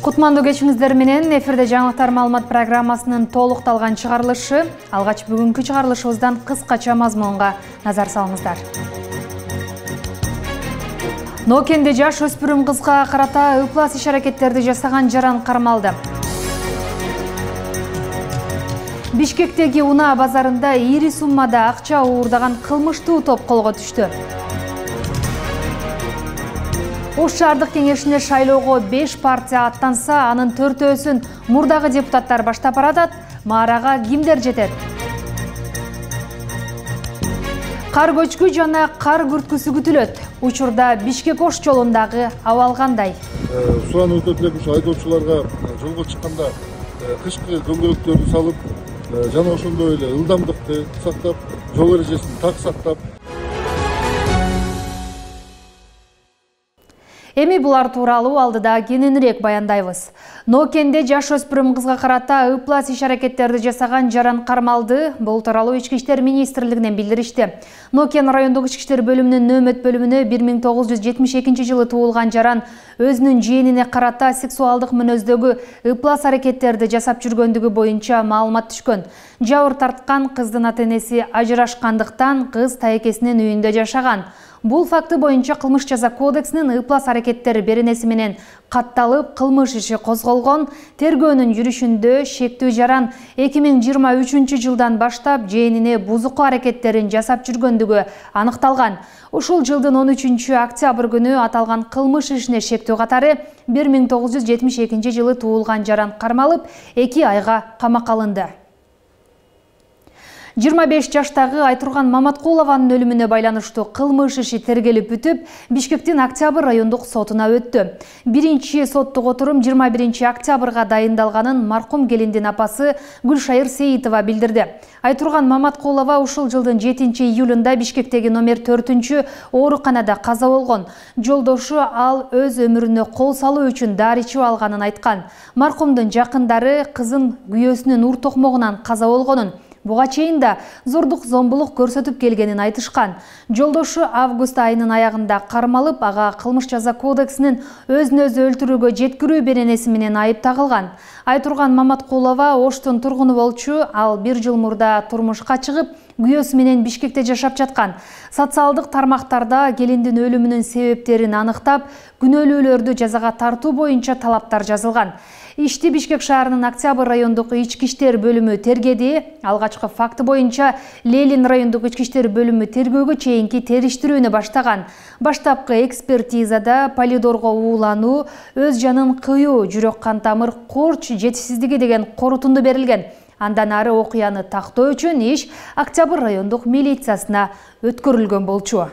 Кутмандуу кечиңиздер менен эфирде жаңылыктар маалымат программасынын толукталган чыгарылышы. Алгач бүгүнкү чыгарылышыбыздан кыскача мазмунга назар салыңыздар. Нокенде жаш өспүрүм кызга карата ыплас иш-аракеттерди жасаган жаран кармалды. Бишкектеги унаа базарында ири суммада акча уурдаган кылмыштуу топ колго түштү. Ош шаардык кеңешине шайлоого 5 партия аттанса, анын 4-өсүн мурдагы депутаттар баштап баратат. Маарага кимдер жетет? Кар көчкү жана кар күрткүсү күтүлөт. Учурда Бишкек-Ош жолундагы абал кандай? Суранып өтөт элек ушу айдоочуларга жолго чыкканда кышкы дөңгөлөктөрдү салып, жана ошондой эле ылдамдыкты сактап, жол эрежесин так сактап. Эми булар тууралуу алдыда кененирээк баяндайбыз. Нокенде жаш өспүрүм кызга карата ыплас иш-аракеттерди жасаган жаран кармалды. Бул тууралуу Ички иштер министрлигинен билдиришти. Нокен райондук ички иштер бөлүмүнүн нөөмөт бөлүмүнө 1972-жылы туулган жаран өзүнүн жээнине карата сексуалдык мүнөздөгү ыплас аракеттерди жасап жүргөндүгү боюнча маалымат түшкөн. Жабыр тарткан кыздын ата-энеси ажырашкандыктан кыз тайекесинин үйүндө жашаган. Бул факты боюнча кылмыш жаза кодексинин ыплас аракеттер беренеси менен катталып, кылмыш иши козголгон. Тергөөнүн жүрүшүндө шектүү жаран 2023-жылдан баштап жээнине бузуку аракеттерин жасап жүргөндүгү аныкталган. Ушул жылдын 13-октябрь күнү аталган кылмыш ишине шектүү катары 1972-жылы туулган жаран кармалып, 2 айга камакка алынды. 25 жаштагы Айтурган Маматкулованын өлүмүнө байланыштуу кылмыш иши тергелип бүтүп, Бишкектин Октябрь райондук сотуна өттү. Биринчи соттук отурум 21 октябрга дайындалганын маркум келиндин апасы Гүлшайыр Сейитова билдирди. Айтурган Маматкулова ушул жылдын 7-июлунда Бишкектеги номер 4 ооруканада каза болгон. Жолдошу ал өз өмүрүнө кол салуу үчүн дары ичип алганын айткан. Маркумдун жакындары кызын күйөөсүнүн ур токмогунан каза болгонун, буга чейин да зордук зомбулук көрсөтүп келгенин айтышкан. Жолдошу август айынын аягында кармалып, ага кылмыш жаза кодексинин өзүн өзү өлтүрүүгө жеткирүү беренеси менен айып тагылган. Айтурган Маматкулова Оштун тургуну болчу. Ал 1 жыл мурда турмушка чыгып, күйөөсү менен Бишкекте жашап жаткан. Социалдык тармактарда келиндин өлүмүнүн себептерин аныктап, күнөөлүүлөрдү жазага тартуу боюнча талаптар жазылган. Ишти Бишкек шаарынын Октябрь райондук ички иштер бөлүмү тергеди. Алгачкы факты боюнча Лелин райондук ички иштер бөлүмү тергөөгө чейинки териштирүүнү баштаган. Баштапкы экспертизада полидорго уулануу, өз жанын кыюу, жүрөк кан тамыр корч жетишсиздиги деген корутунду берилген. Андан ары окуяны тактоо үчүн иш Октябрь райондук милициясына өткөрүлгөн болчу.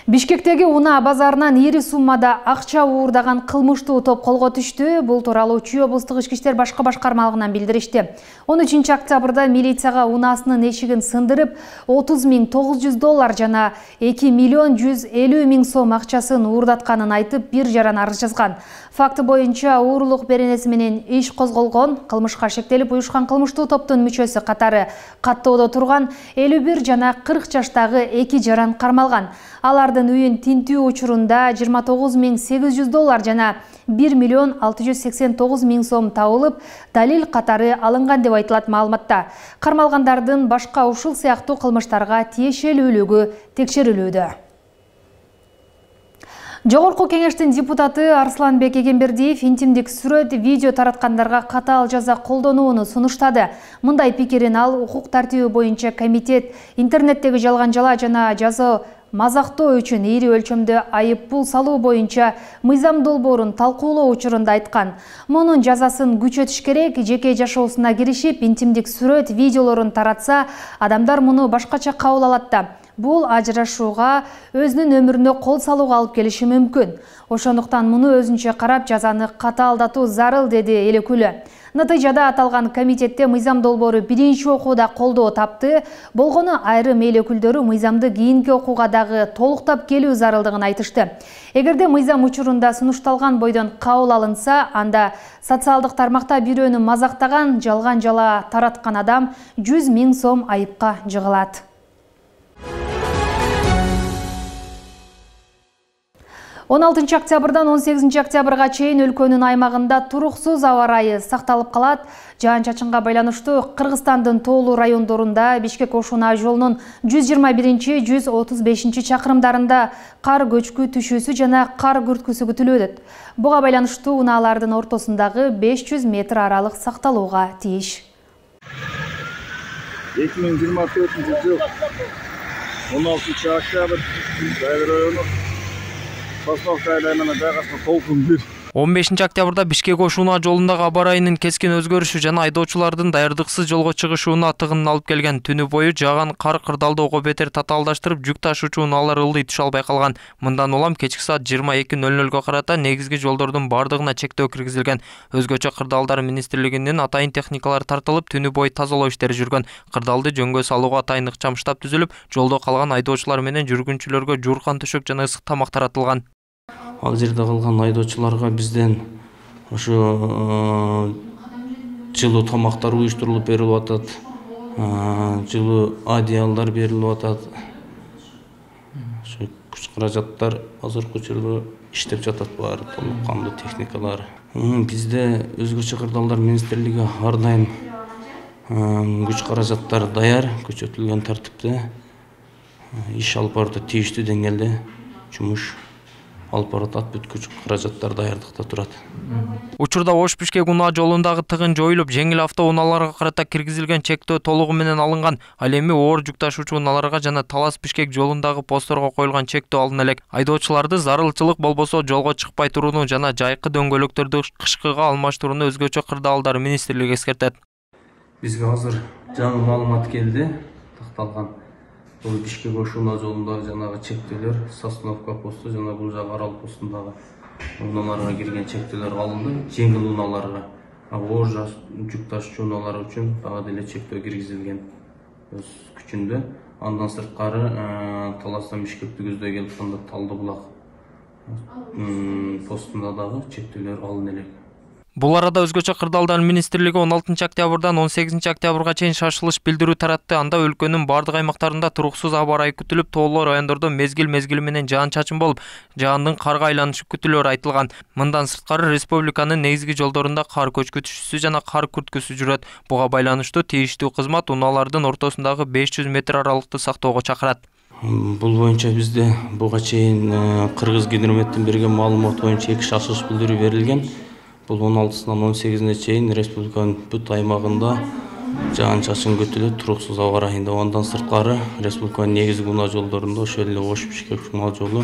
Бишкектеги унаа базарынан ири суммада акча уурдаган кылмыштуу топ колго түштү. Бул тууралуу Чүй облустук ички иштер башкы башкармалыгынан билдиришти. 13 октябрда милицияга унаасынын эшигин сындырып, $30.900 жана $2.150.000 сом акчасын уурдатканын айтып, бир жаран арыз жазган. Факты боюнча уурулук беренеси менен иш козголгон. Кылмышка шектелип уюшкан кылмыштуу топтун мүчөсү катары каттоодо турган 51 жана 40 жаштагы 2 жаран кармалган. Алардын үйүн тинтүү учурунда $29.800 жана $1.689.000 сом табылып, далил катары алынган деп айтылат маалыматта. Кармалгандардын башка ушул сыяктуу кылмыштарга тиешелүүлүгү текшерилүүдө. Жогорку кеңештин депутаты Арсланбек Эгембердиев интимдик сүрөт, видео тараткандарга катаал жаза колдонууну сунуштады. Мындай пикирин ал укук тартиби боюнча комитет интернеттеги жалган жала жана жаза мазактоо үчүн ири өлчөмдө айып пул салуу боюнча мыйзам долбоорун талкуулоо учурунда айткан. Мунун жазасын күчөтүш керек. Жеке жашоосуна киришип, интимдик сүрөт, видеолорун таратса, адамдар муну башкача кабыл алат да. Бул ажырашууга, өзүнүн өмүрүнө кол салууга алып келиши мүмкүн. Ошондуктан муну өзүнчө карап, жазаны катаалдатуу зарыл, деди эл өкүлү. Натыйжада аталган комитетте мыйзам долбоору биринчи окууда колдоо тапты. Болгону айрым эл өкүлдөрү мыйзамды кийинки окууга дагы толуктап келүү зарылдыгын айтышты. Эгерде мыйзам учурунда сунушталган бойдон кабыл алынса, анда социалдык тармакта бирөөнү мазактаган, жалган жала тараткан адам 100.000 сом айыпка жыгылат. 16 октябрдан 18 октябрга чейин өлкөнүн аймагында туруксуз аба ырайы сакталып калат. Жаан-чачынга байланыштуу Кыргызстандын тоолуу райондорунда Бишкек-Ош-Унаа жолунун 125-135 чакырымдарында кар көчкү түшүүсү жана кар күрткүсү күтүлөт. Буга байланыштуу унаалардын ортосундагы 500 метр аралык сакталууга тийиш. 2024 жыл 16 октябрь Дайыр району Сосновка айланына жайгашкан толкун 1. 15 октябрда Бишкек-Ош-Унаа жолундагы аба ырайынын кескин өзгөрүшү жана айдоочулардын даярдыксыз жолго чыгышууна тыгынын алып келген. Түнү бою жааган кар кырдаалдоого бетер татаалдаштырып, жүк ташуучу унаалар ылдый түшө албай калган. Мындан улам кечки саат 22:00 карата негизги жолдордун бардыгына чектөө киргизилген. Өзгөчө кырдаалдар министрлигинин атайын техникалары тартылып, түнү бою тазалоо иштери жүргөн. Кырдаалды жөнгө салууга атайын ыкчам штаб түзүлүп, жолдо калган айдоочулар менен жүргүнчүлөргө жууркан төшөк жана ысык тамак таратылган. Ал жерде калган айдоочуларга бизден ошо жылуу тамактар уюштурулуп берилип атат. Жылуу одеялдар берилип атат. Ошо күч каражаттар азыркы учурда иштеп жатат, баары толук кандуу техникалар. Бизде өзгөчө кырдаалдар министрлиги ар дайым күч каражаттар даяр, көрсөтүлгөн тартипте иш алып барып тийиштүү деңгээлде жумуш алып баратат, бүт күч каражаттар даярдыкта турат. Учурда Ош-Бишкек-Унаа жолундагы тыгын жоюлуп, жеңил автоунааларга карата киргизилген чектөө толугу менен алынган. Ал эми оор жүк ташуучу унааларга жана Талас-Бишкек жолундагы постторго коюлган чектөө алына элек. Айдоочуларды зарылчылык болбосо жолго чыкпай турууну жана жайкы дөңгөлөктөрдү кышкыга алмаштырууну өзгөчө кырдаалдар министрлиги эскертет. Бизге азыр жаңы маалымат келди, такталган. Бул Бишкек-Ош-Унаа жолундагы жанагы чектөөлөр Сосновка посту жана бул жагы Арал постундагы унааларга кирген чектөөлөр алынды. Жеңил унааларга, оор жүк ташуучу унаалар үчүн дагы деле чектөө киргизилген өз күчүндө. Андан сырткары Таластан Бишкекти көздөй келип атканда Талды булак постунда дагы чектөөлөр алына элек. Бул арада өзгөчө кырдаалдар министрлиги 16 октябрдан 18 октябрга чейин шашылыш билдирүү таратты. Анда өлкөнүн бардык аймактарында туруксуз аба ырайы күтүлүп, тоолуу райондордо мезгил менен жаан-чачын болуп, жаандын карга айланышы күтүлөөрү айтылган. Мындан сырткары республиканын негизги жолдорунда кар көчкү түшүүсү жана кар күрткүсү жүрөт. Буга байланыштуу тийиштүү кызмат унаалардын ортосундагы 500 метр аралыкты сактоого чакырат. Бул боюнча бизде буга чейин Кыргызгидрометтен берген маалымат боюнча 2 шашылыш билдирүү берилген. Бул 16-сынан 18-не чейин республиканын бүт аймагында жаан-чачын күтүлөт, туруксуз аба ырайында. Андан сырткары республиканын негизги унаа жолдорунда ошол эле Ош-Бишкек-Унаа жолу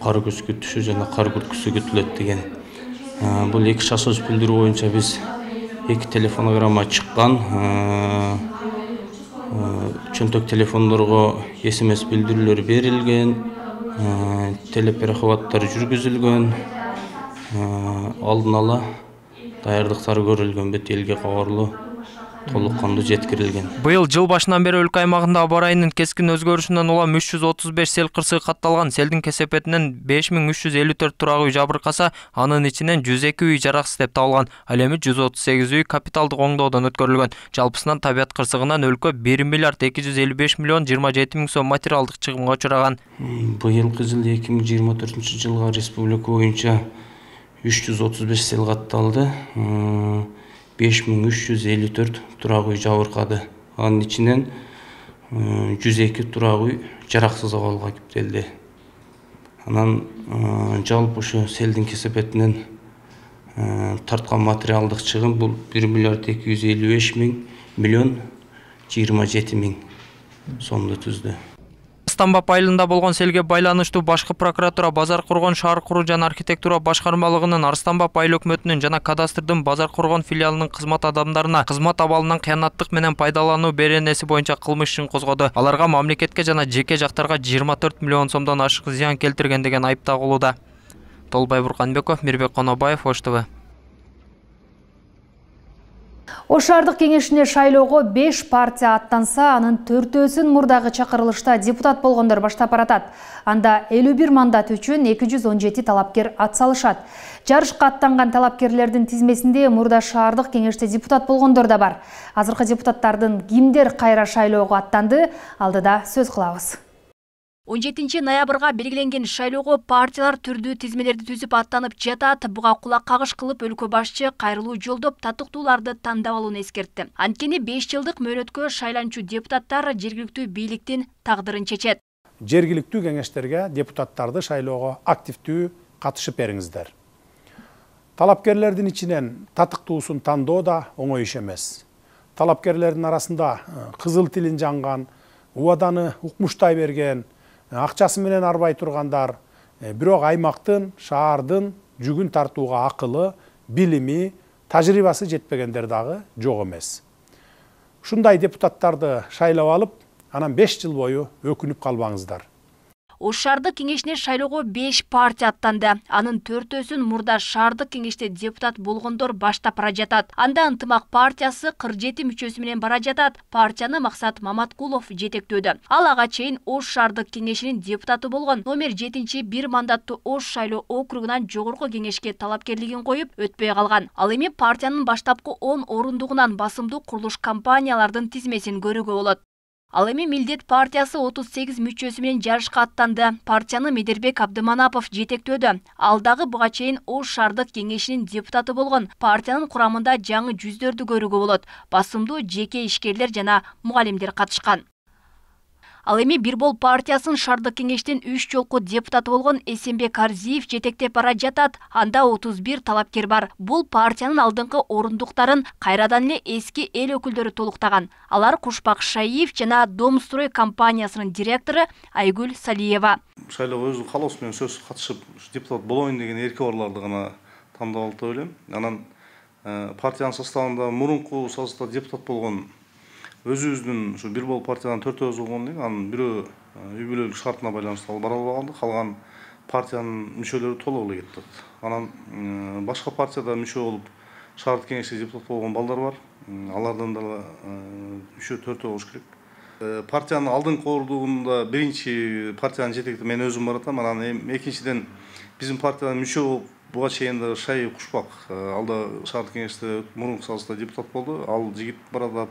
кар көчкү түшүү жана кар күрткүсү күтүлөт деген. Бул 2 шашылыш билдирүү боюнча биз 2 телефонограмма чыккан. Чөнтөк телефондорго SMS билдирүүлөр берилген, телеперехваттар жүргүзүлгөн. Алдын ала даярдыктар көрүлгөн, бет элге кабарлуу толук кандуу жеткирилген. Быйыл жыл башынан бери өлкө аймагында аба ырайынын кескин өзгөрүшүнөн улам 335 сел кырсыгы катталган. Селдин кесепетинен 5354 турак үй жабыркаса, анын ичинен 102 үй жараксыз деп табылган. Ал эми 138 үй капиталдык оңдоодон өткөрүлгөн. Жалпысынан табият кырсыгынан өлкө 1 миллиард 255 миллион 27 миң сом материалдык чыгымга учураган. Быйылкы жыл 2024 жылга республика боюнча 335 сел катталды, 5354 турак үй жабыркады. Анын ичинен 102 турак үй жараксыз абалга кептелди. Анан жалпы ушу селдин кесепетинен тарткан материалдык чыгым бул 1 миллиард 255 миллион 27 миң сомду түздү. Стамбап айылында болгон селге байланыштуу башкы прокуратура, базар коргон шаар куруу жана архитектура башкармалыгынын Арстанбап айыл өкмөтүнүн жана кадастрдын базар коргон филиалынын кызмат адамдарына кызмат абалынан кыянаттык менен пайдалануу беренеси боюнча кылмыш ишин козгоду. Аларга мамлекетке жана жеке жактарга 24 миллион сомдон ашык зыян келтирген деген айып тагылууда. Толбай Бурканбеков, Мирбек Конобаев, Ош ТВ. Ош шаардык кеңешине шайлоого 5 партия аттанса, анын 4-өсүн мурдагы чакырылышта депутат болгондор баштап баратат. Анда 51 мандат үчүн 217 талапкер атсалышат. Жарышка аттанган талапкерлердин тизмесинде мурда шаардык кеңеште депутат болгондор да бар. Азыркы депутаттардын кимдер кайра шайлоого аттанды, алдыда сөз кылабыз. 17 ноябрга белгиленген шайлоого партиялар түрдүү тизмелерди түзүп аттанып жатат. Буга кулак кагыш кылып өлкө башчы кайрылуу жолдоп татыктууларды тандап алууну эскертти. Анткени 5 жылдык мөөнөткө шайланчу депутаттар жергиликтүү бийликтин тагдырын чечет. Жергиликтүү кеңештерге депутаттарды шайлоого активдүү катышып бериңиздер. Талапкерлердин ичинен татыктуусун тандоо да оңой иш эмес. Талапкерлердин арасында кызыл тилин жанган, убаданы укмуштай берген, акчасы менен арбай тургандар, бирок аймактын, шаардын жүгүн тартууга акылы, билими, тажрыйбасы жетпегендер дагы жок эмес. Ушундай депутаттарды шайлап алып, анан 5 жыл бою өкүнүп калбаңыздар. Ош шаардык кеңешине шайлоого 5 партия аттанды. Анын 4-өсүн мурда шаардык кеңеште депутат болгондор баштап бара жатат. Анда Ынтымак партиясы 47 мүчөсү менен бара жатат. Партияны Максат Маматкулов жетектөөдө. Ал ага чейин Ош шаардык кеңешинин депутаты болгон. Номер 7 бир мандаттуу Ош шайлоо округунан жогорку кеңешке талапкерлигин коюп өтпөй калган. Ал эми партиянын баштапкы 10 орундугунан басымдуу курулуш компаниялардын тизмесин көрүүгө болот. Ал эми Милдет партиясы 38 мүчөсү менен жарышка аттанды. Партияны Медербек Абдыманапов жетектөөдө. Ал дагы буга чейин Ош шаардык кеңешинин депутаты болгон. Партиянын курамында жаңы жүздөрдү көрүүгө болот. Басымдуу жеке ишкерлер жана мугалимдер катышкан. Ал эми Бир бол партиясынын шаардык кеңештин 3 жолку депутаты болгон Эсенбек Арзиев жетектеп бара жатат. Анда 31 талапкер бар. Бул партиянын алдыңкы орундуктарын кайрадан эле эски эл өкүлдөрү толуктаган. Алар Кушпак Шаиев жана Домстрой компаниясынын директору Айгүл Салиева. Шайлоого өзүнүн каалоосу менен сөзсүз катышып, депутат болоюн деген эрки барларды гана тандап алды деп ойлойм. Анан партиянын составында мурунку составда депутат болгон өзүбүздүн ушу Бир бол партиядан 4-өзү болгон эле, анын бирөө үй бүлөлүк шартына байланыштуу бара албай калды. Калган партиянын мүчөлөрү толук эле кетти. Анан башка партияда мүчө болуп шаардык кеңеште депутат болгон балдар бар. Алардан да 3-4 болуш керек. Партиянын алдыңкы орундугунда биринчи партиянын жетекти мен өзүм баратам. Анан экинчиден биздин партиядан мүчө болуп буга чейин да Шаиев Кушпак алда шаардык кеңеште мурунку сазда депутат болду. Ал жигит баратат.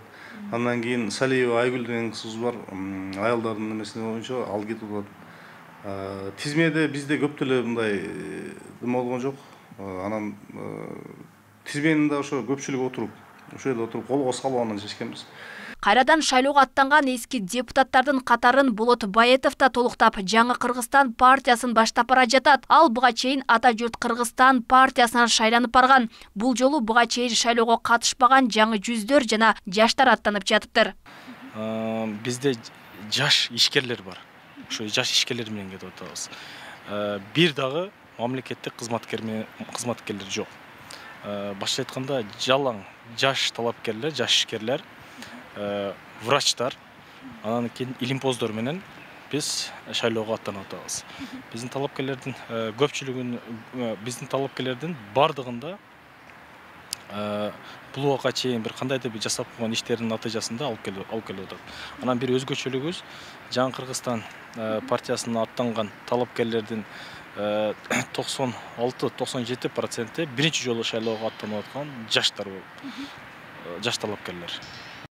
Андан кийин Салиева Айгүл деген кызыбыз бар. Аялдардын немесине боюнча ал кетип атат. Тизмеде бизде көп деле мындай болгон жок. Анан тизменин да ошо көпчүлүк отуруп, ошол жерде отуруп колго салып анан чечкенбиз. Кайрадан шайлоого аттанган эски депутаттардын катарын Болот Баетов да толуктап, жаңы Кыргызстан партиясын баштап бара жатат. Ал буга чейин Ата журт Кыргызстан партиясынан шайланып барган. Бул жолу буга чейин шайлоого катышпаган жаңы жүздөр жана жаштар аттанып жатыптыр. Бизде жаш ишкерлер бар. Ошо жаш ишкерлер менен кетип атабыз. Бир дагы мамлекеттик кызматкерлер жок. Башка айтканда жалаң жаш талапкерлер, жаш ишкерлер, врачтар, анан кийин илимпоздор менен биз шайлоого аттанып атабыз. Биздин талапкерлердин көпчүлүгүн, биздин талапкерлердин бардыгында бул убакка чейин бир кандайдыр бир жасап койгон иштердин натыйжасында алып келип атат. Анан бир өзгөчөлүгүбүз жаңы Кыргызстан партиясына аттанган талапкерлердин 96-97% биринчи жолу шайлоого аттанып аткан жаштар болуп, жаш талапкерлер.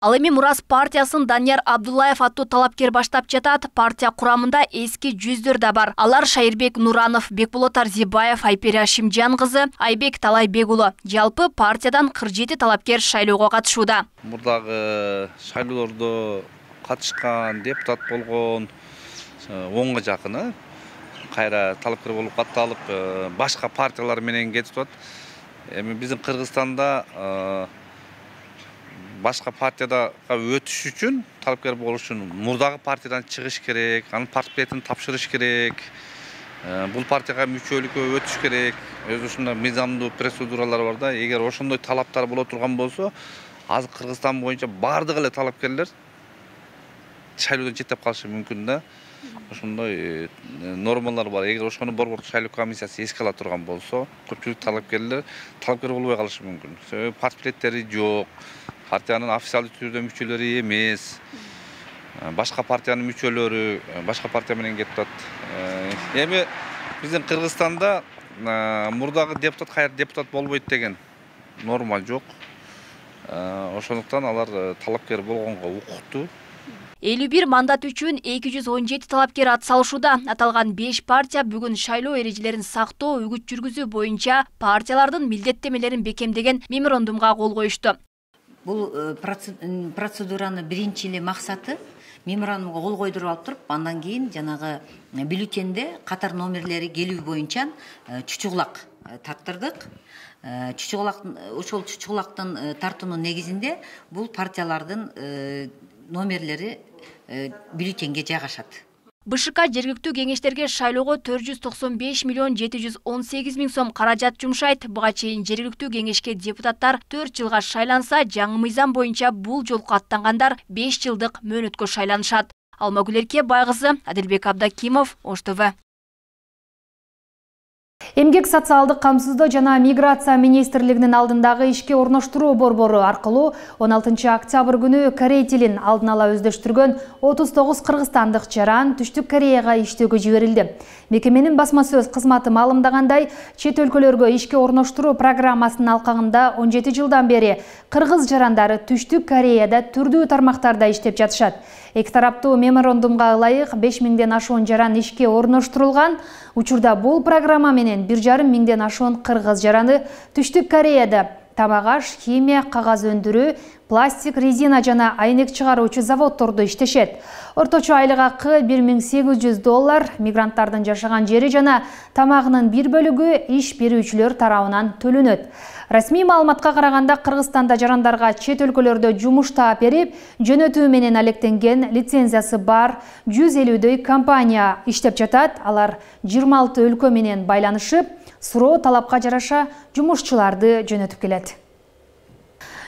Ал эми Мурас партиясын Данияр Абдуллаев аттуу талапкер баштап жатат. Партия курамында эски жүздөр да бар. Алар Шайырбек Нуранов, Бекболот Арзибаев, Айпери Ашимжан кызы, Айбек Талайбек уулу. Жалпы партиядан 47 талапкер шайлоого катышууда. Мурдагы шайлоолордо катышкан, депутат болгон 10га жакыны кайра талапкер болуп катталып, башка партиялар менен кетип атат. Эми биздин Кыргызстанда башка партияга өтүш үчүн, талапкер болуш үчүн мурдагы партиядан чыгыш керек, анын портфелин тапшырыш керек. Бул партияга мүчөлүккө өтүш керек. Өзү ушундай мыйзамдуу процедуралар бар да. Эгер ошондой талаптар боло турган болсо, азыр Кыргызстан боюнча бардык эле талапкерлер шайлоодон четтеп калышы мүмкүн да. Ошондой нормалар бар. Эгер ошону Борбордук шайлоо комиссиясы эске ала турган болсо, көпчүлүк талапкер болбой калышы мүмкүн. Себеби портфелдери жок. Партиянын официалдуу түрдө мүчөлөрү эмес. Башка партиянын мүчөлөрү, башка партия менен кетип атат. Эми биздин Кыргызстанда мурдагы депутат кайра депутат болбойт деген норма жок. Ошондуктан алар талапкер болгонго укуктуу. 51 мандат үчүн 217 талапкер атсалышууда. Аталган 5 партия бүгүн шайлоо эрежелерин сактоо, үгүт жүргүзүү боюнча партиялардын милдеттемелерин бекемдеген меморандумга кол коюшту. Бул процедураны биринчи эле максаты меморандумга кол койдуруп алып туруп, андан кийин жанагы бюллетенде катар номерлери келүү боюнча чучугулак тарттырдык. Ошол чучугулактын тартуунун негизинде бул партиялардын номерлери бюллетенге жайгашат. БШК жергиликтүү кеңештерге шайлоого 495 миллион 718 миң сом каражат жумшайт. Буга чейин жергиликтүү кеңешке депутаттар 4 жылга шайланса, жаңы мыйзам боюнча бул жолку аттангандар 5 жылдык мөөнөткө шайланышат. Алмагүл Эркебай кызы, Адилбек Абдакимов, Ош ТВ. Эмгек социалдык камсыздоо жана миграция министрлигинин алдындагы ишке орноштуруу борбору аркылуу 16 октябрь күнү Корей тилин алдын ала өздөштүргөн 39 кыргызстандык жаран Түштүк Кореяга иштөөгө жиберилди. Мекеменин басма сөз кызматы маалымдагандай, чет өлкөлөргө ишке орноштуруу программасынын алкагында 17 жылдан бери кыргыз жарандары Түштүк Кореяда түрдүү тармактарда иштеп жатышат. Эки тараптуу меморандумга ылайык 5000ден ашуун жаран ишке орноштурулган. Учурда бул программа менен 1,5 миңден ашуун кыргыз жараны Түштүк Кореяда тамак аш, химия, кагаз өндүрүү, пластик, резина жана айнек чыгаруучу заводдордо иштешет. Орточо айлык акы $1800, мигранттардын жашаган жери жана тамагынын бир бөлүгү иш берүүчүлөр тарабынан төлөнөт. Расмий маалыматка караганда Кыргызстанда жарандарга чет өлкөлөрдө жумуш таап берип, жөнөтүү менен алектенген лицензиясы бар 150дөй компания иштеп жатат. Алар 26 өлкө менен байланышып, суроо талапка жараша жумушчуларды жөнөтүп келет.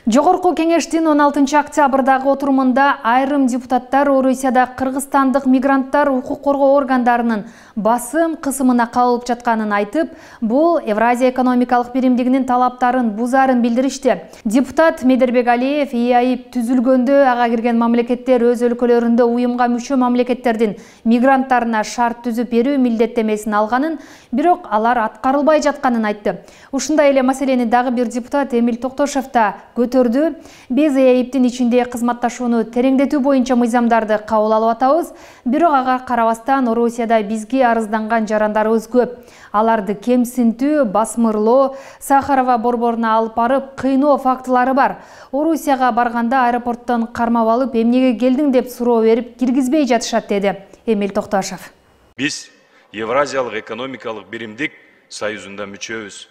Жогорку кеңештин 16 октябрдагы отурумунда айрым депутаттар Орусияда кыргызстандык мигранттар укук коргоо органдарынын басым кысымына кабылып жатканын айтып, бул Евразия экономикалык биримдигинин талаптарын бузарын билдиришти. Депутат Медербек Алиев ИАИП түзүлгөндө ага кирген мамлекеттер өз өлкөлөрүндө уюмга мүчө мамлекеттердин мигранттарына шарт түзүп берүү милдеттемесин алганын, бирок алар аткарылбай жатканын айтты. Ушундай эле маселени дагы бир депутат Эмил Токтошев да көтөрдү. Биз ИАИПтин ичинде кызматташууну тереңдетүү боюнча мыйзамдарды кабыл алып атабыз, бирок ага карабастан Орусияда бизге арызданган жарандарыбыз көп. Аларды кемсинтүү, басмырлоо, Сахарова борборуна алып барып кыйноо фактылары бар. Орусияга барганда аэропорттон кармап алып, эмнеге келдиң деп суроо берип киргизбей жатышат, деди Эмил Токтошев. Биз Евразиялык экономикалык биримдик союзунда мүчөбүз.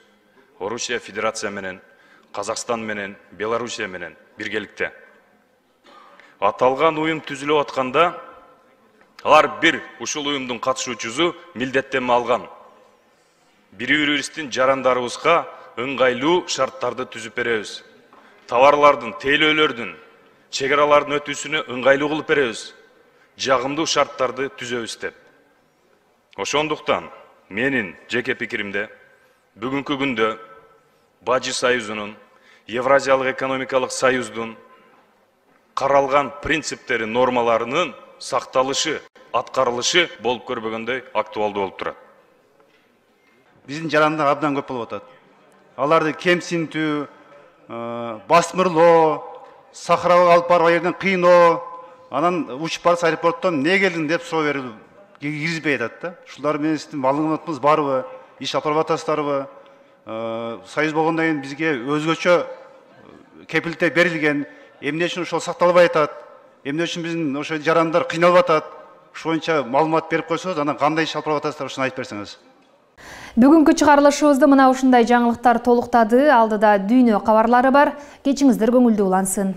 Орусия Федерация менен, Казакстан менен, Белоруссия менен биргеликте. Аталган уюм түзүлүп атканда, алар бир ушул уюмдун катышуучусу милдеттеме алган. Бири-бирибиздин жарандарыбызга ыңгайлуу шарттарды түзүп беребиз. Товарлардын, тейлөөлөрдүн, чек аралардын өтүүсүнө ыңгайлуу кылып беребиз. Жагымдуу шарттарды түзөбүз деп. Ошондуктан менин жеке пикиримде бүгүнкү күндө Бажы союзунун, Евразиялык экономикалык союздун каралган принциптери, нормаларынын сакталышы, аткарылышы болуп көрбөгөндөй актуалдуу болуп турат. Биздин жарандар абдан көп болуп атат. Аларды кемсинтүү, басмырлоо, Сахарага алып барып жерден кыйноо, анан учуп барса аэропорттон не келдиң деп суроо берүү киргизбей атат да. Ушулар менен сиздин маалыматыңыз барбы, иш алып барып атасыздарбы? Союз болгондон кийин бизге өзгөчө кепилдик берилген, эмне үчүн ошол сакталбай атат, эмне үчүн биздин ошо жарандар кыйналып атат, ошол боюнча маалымат берип койсоңуз, анан кандай иш алып барып атасыздар, ошону айтып берсеңиз. Бүгүнкү чыгарылышыбызды мына ушундай жаңылыктар толуктады. Алдыда дүйнө кабарлары бар. Кечиңиздер көңүлдүү улансын.